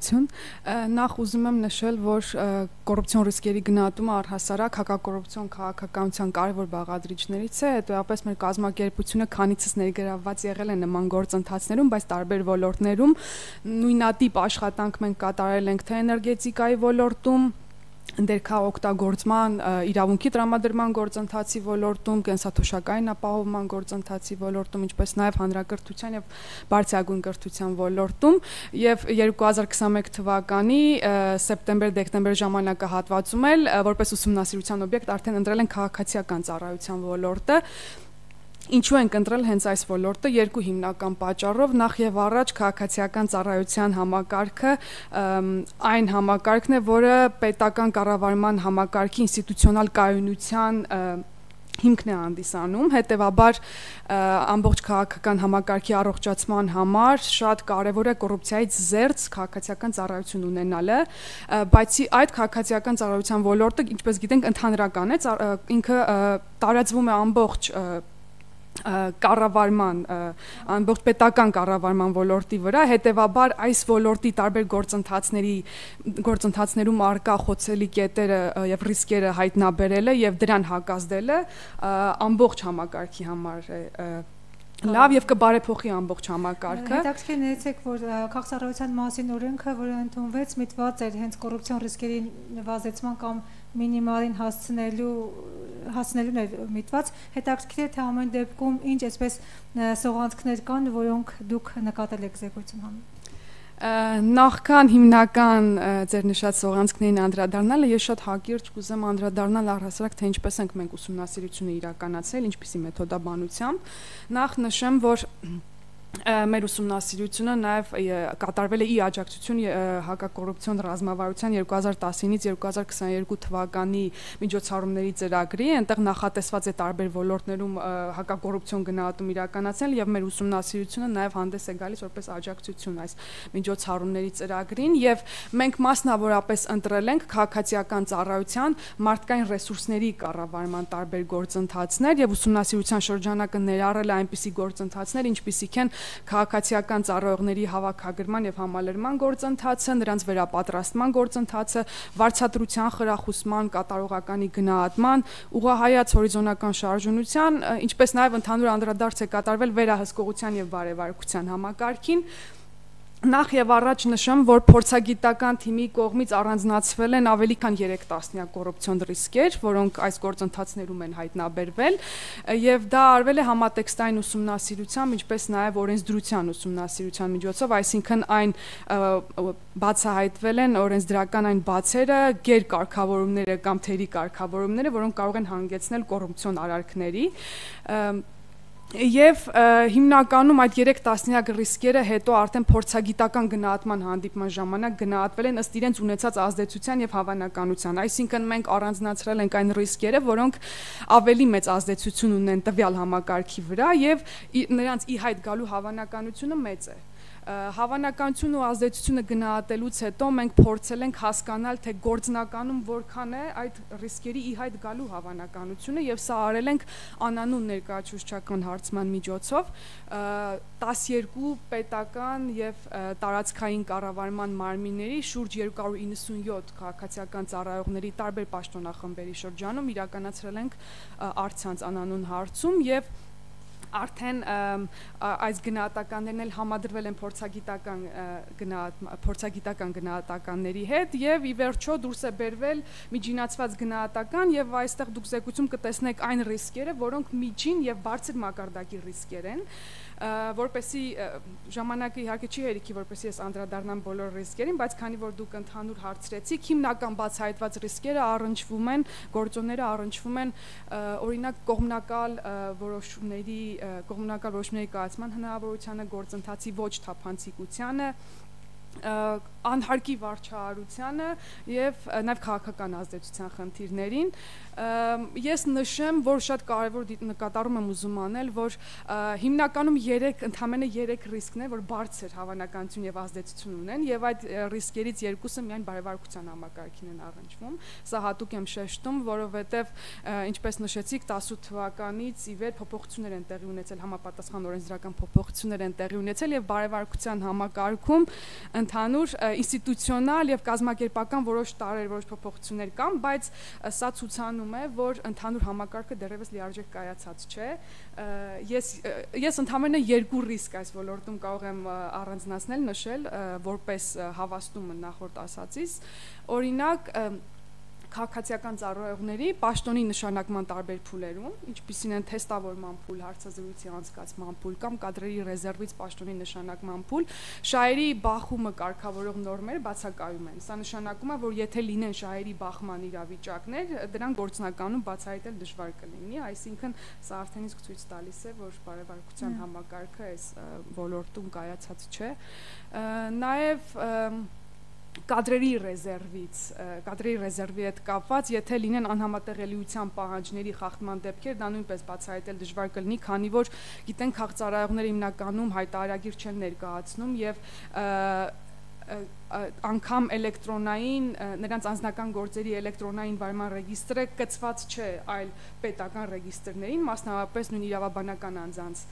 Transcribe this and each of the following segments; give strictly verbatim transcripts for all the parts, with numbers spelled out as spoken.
Բարություն։ Նախ ուզում եմ նշել, որ կոռուպցիոն ռիսկերի գնահատումը առհասարակ հակակոռուպցիոն քաղաքականության կարևոր բաղադրիչներից է, հետո մեր կազմակերպությունը քանիցս ներգրավված եղել է նման գործընթացներում, բայց տարբեր ոլորտներում նույնատիպ աշխատանք մենք կատարել ենք թե էներգետիկայի ոլորտում, ներքաղօգտագործման իրավունքի տրամադրման գործընթացի ոլորտում, կենսաթոշակային ապահովման գործընթացի ոլորտում, ինչպես նաև հանրակրթության եւ բարձրագույն կրթության ոլորտում, եւ երկու հազար քսաներկու թվականի սեպտեմբեր-դեկտեմբեր ժամանակահատվածում էլ որպես ուսումնասիրության օբյեկտ արդեն ընտրել են քաղաքացիական ծառայության ոլորտը։ Ինչու ենք ընտրել հենց այս ոլորտը երկու հիմնական պատճառով, նախ եւ առաջ քաղաքացիական ծառայության համակարգը այն համակարգն է, որը պետական կառավարման համակարգի ինստիտուցիոնալ կայունության հիմքն է հանդիսանում, հետևաբար ամբողջ քաղաքական համակարգի առողջացման համար շատ կարևոր է կոռուպցիայից զերծ քաղաքացիական ծառայություն ունենալը, բացի այդ քաղաքացիական ծառայության ոլորտը, ինչպես գիտենք, ընդհանրական է, ինքը տարածվում է ամբողջ կառավարման, ամբողջ պետական կառավարման ոլորտի վրա, հետևաբար այս ոլորտի տարբեր գործընթացների գործընթացներում առկա խոցելի կետերը եւ ռիսկերը հայտնաբերելը եւ դրան հակազդելը ամբողջ համակարգի համար է լավ եւ կբարեփոխի ամբողջ համակարգը։ Հետաքրքիր ներեցեք, որ քաղաքացիական մասին օրենքը, որը ընդունվեց, միտված էր հենց կոռուպցիոն ռիսկերի նվազեցման կամ մինիմալին հասցնելու հասնելուն էր միտված, հետաքրքիր է թե ամեն դեպքում ինչ այսպես սողանցքներ կան, որոնք դուք նկատել եք զեկույցում հանում։ Նախքան հիմնական ձեր նշած սողանցքներին անդրադառնալը, ես շատ հակիրճ կուզեմ անդրադառնալ առհասարակ թե ինչպես ենք մենք ուսումնասիրությունը իրականացրել, ինչպիսի մեթոդաբանությամբ։ Նախ նշեմ, որ մեր ուսումնասիրությունը նաև կատարվել է ի աջակցություն հակակոռուպցիոն ռազմավարության երկու հազար տասինից երկու հազար քսաներկու թվականի միջոցառումների ծրագրի, այնտեղ նախատեսված է տարբեր ոլորտներում հակակոռուպցիոն գնահատում իրականացնել եւ մեր ուսումնասիրությունը նաև հանդես է գալիս որպես աջակցություն այս միջոցառումների ծրագրին եւ մենք մասնավորապես ընտրել ենք քաղաքացիական ծառայության մարդկային ռեսուրսների կառավարման տարբեր գործընթացներ եւ ուսումնասիրության շրջանակը ներառել է այնպիսի գործընթացներ, ինչպիսիք են քաղաքացիական ծառայողների հավաքագրման եւ համալրման գործընթացը, նրանց վերապատրաստման գործընթացը, վարձատրության խրախուսման, կատարողականի գնահատման, ուղղահայաց հորիզոնական շարժունության, ինչպես նաեւ ընդհանուր անդրադարձ է կատարվել վերահսկողության եւ բարեվարկության համակարգին։ Նախ եւ առաջ նշեմ, որ փորձագիտական թիմի կողմից առանձնացվել են ավելի քան երեք տասնյակ կոռուպցիոն ռիսկեր, որոնք այս գործընթացներում են հայտնաբերվել, եւ դա արվել է համատեքստային ուսումնասիրությամբ, ինչպես նաեւ օրենսդրության ուսումնասիրության միջոցով, այսինքն այն բացահայտվել են օրենսդրական այն բացերը, գերկարգավորումները կամ թերի կարգավորումները, որոնք կարող են հանգեցնել կոռուպցիոն արարքների։ Եվ հիմնականում այդ երեք տասնյակ ռիսկերը հետո արդեն փորձագիտական գնահատման հանդիպման ժամանակ գնահատվել են ըստ իրենց ունեցած ազդեցության եւ հավանականության, այսինքն մենք առանձնացրել ենք այն ռիսկերը, որոնք ավելի մեծ ազդեցություն ունեն տվյալ համակարգի վրա եւ նրանց ի հայտ գալու հավանականությունը մեծ է։ Հավանականություն ու ազդեցությունը գնահատելուց հետո մենք փորձել ենք հասկանալ, թե գործնականում որքան է այդ ռիսկերի ի հայտ գալու հավանականությունը եւ սա արել ենք անանուն ներկայացուցչական հարցման միջոցով տասներկու պետական եւ տարածքային կառավարման մարմինների շուրջ երկու հարյուր իննսունյոթ քաղաքացիական ծառայողների տարբեր պաշտոնախմբերի շրջանում իրականացրել ենք առցանց անանուն հարցում եւ արդեն այս գնահատականներն էլ համադրվել են փորձագիտական փորձագիտական գնահատականների հետ եւ ի վերջո դուրս է բերվել միջինացված գնահատական եւ այստեղ դուք զեկույցում կտեսնեք այն ռիսկերը, որոնք միջին եւ բարձր մակարդակի ռիսկեր են, որպեսի ժամանակը իհարկե չի հերիքի, որպեսի ես անդրադառնամ բոլոր ռիսկերին, բայց քանի որ դուք ընդհանուր հարցրեցիք, հիմնական բացահայտված ռիսկերը առնչվում են, գործոնները առնչվում են օրինակ կողմնակալ որոշումների կողմնակալ որոշումների կայացման հնարավորությանը, գործընթացի ոչ թափանցիկությանը, անհարկի վարչահարությանը եւ նաեւ քաղաքական ազդեցության խնդիրներին։ Ես նշեմ, որ շատ կարևոր նկատառում եմ ուզում անել, որ հիմնականում երեք ընդամենը երեք ռիսկներ, որ բարձր հավանականություն եւ ազդեցություն ունեն եւ այդ ռիսկերից երկուսը միայն բարեվարկության համակարգին են առնչվում։ Սա հատուկ եմ շեշտում, որովհետեւ ինչպես նշեցիք, տասութ թվականից ի վեր փոփոխություններ են տեղի ունեցել, համապատասխան օրենսդրական փոփոխություններ են տեղի ունեցել եւ բարեվարկության համակարգում ընդհանուր ինստիտուցիոնալ եւ կազմակերպական որոշ տարեր, որոշ փոփոխություններ կան, բայց սա ցուցանում է, որ ընդհանուր համակարգը դեռևս լիարժեք կայացած չէ։ Ես ես ընդհանրապես երկու ռիսկ այս ոլորտում կարող եմ առանձնացնել, նշել, որպես հավաստումը նախորդ ասածից, օրինակ քաղաքացիական ծառայողների պաշտոնի նշանակման տարբեր փուլերում, ինչպիսին են թեստավորման փուլ, հարցազրույցի անցկացման փուլ կամ կադրերի ռեզերվից պաշտոնի նշանակման փուլ, շահերի բախումը կարգավորող նորմեր բացակայում են։ Սա նշանակում է, որ եթե լինեն շահերի բախման իրավիճակներ, դրանք գործնականում բացահայտել դժվար կլինի, այսինքն սա արդեն իսկ ցույց տալիս է, որ բարեվարկության համակարգը այս ոլորտում կայացած չէ։ Նաև կադրերի ռեզերվից, կադրերի ռեզերվի հետ կապված, եթե լինեն անհամատեղելիության պահանջների խախտման դեպքեր, դա նույնպես բացահայտել դժվար կլինի, քանի որ գիտենք քաղաքծառայողները հիմնականում հայտարարագիր չեն ներկայացնում եւ անգամ էլեկտրոնային նրանց անձնական գործերի էլեկտրոնային վարման ռեգիստրը կցված չէ այլ պետական ռեգիստրներին, մասնավորապես նույն իրավաբանական անձանց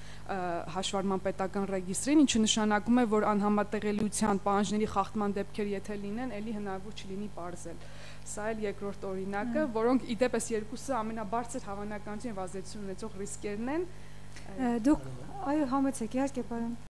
հաշվառման պետական ռեգիստրին, ինչը նշանակում է, որ անհամատեղելիության պահանջների խախտման դեպքեր եթե լինեն, ելի հնարավոր չլինի պարզել։ Սա էլ երկրորդ օրինակը, որոնք ի դեպ երկուսը ամենաբարձր հավանականություն եւ ազդեցություն ունեցող ռիսկերն են։ Դուք այո համեցեք, իհարկե, պարոն